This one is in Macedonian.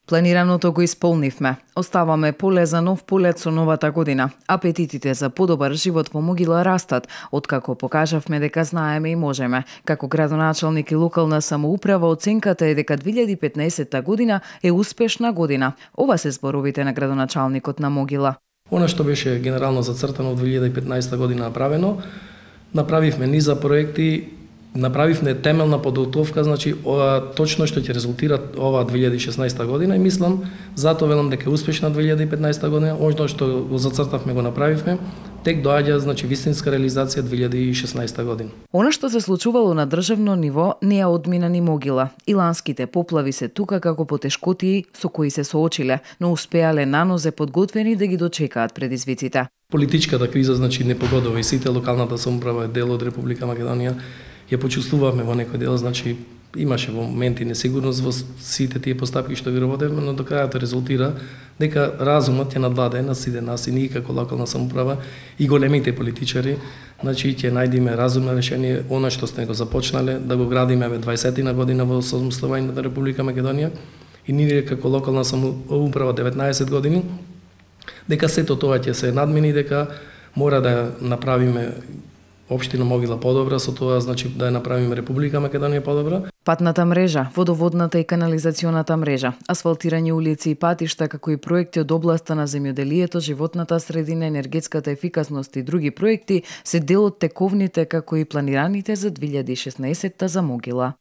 Планираното го исполнивме. Оставаме поле за нов полет со новата година. Апетитите за подобар живот во Могила растат, откако покажавме дека знаеме и можеме. Како градоначалник и локална самоуправа оценката е дека 2015 година е успешна година. Ова се зборовите на градоначалникот на Могила. Она што беше генерално зацртано во 2015 година направено, направивме низа проекти, направивме темелна подготовка, значи точно што ќе резултира ова 2016 година и мислам, затоа велам дека е успешна 2015 година, она што го зацртавме го направивме, тек доаѓа значи вистинска реализација 2016 година. Она што се случувало на државно ниво не ја одмина ни Могила. Иланските поплави се тука како потешкотии со кои се соочиле, но успеале нанозе подготвени да ги дочекаат предизвиците. Политичката криза значи не погодува и сите, локалната самоуправа е дел од Република Македонија. Ја почувствувавме во некој дел, значи имаше во моменти несигурност во сите тие постапки што ги работевме, но до крајот резултира дека разумот ќе надвладае на сите нас и ние како локална самоуправа и големите политичари, значи ќе најдеме разумно решение, она што сме го започнале, да го градиме 20-тина година во самостојувањето на Република Македонија и ние како локална самоуправа 19 години, дека сето тоа ќе се надмини, дека мора да направиме Општина Могила подобра, со тоа значи да ја направиме Република Македонија подобра. Патната мрежа, водоводната и канализационата мрежа, асфалтирање улици и патишта, како и проекти од областа на земјоделието, животната средина, енергетската ефикасност и други проекти се дел од тековните како и планираните за 2016 за Могила.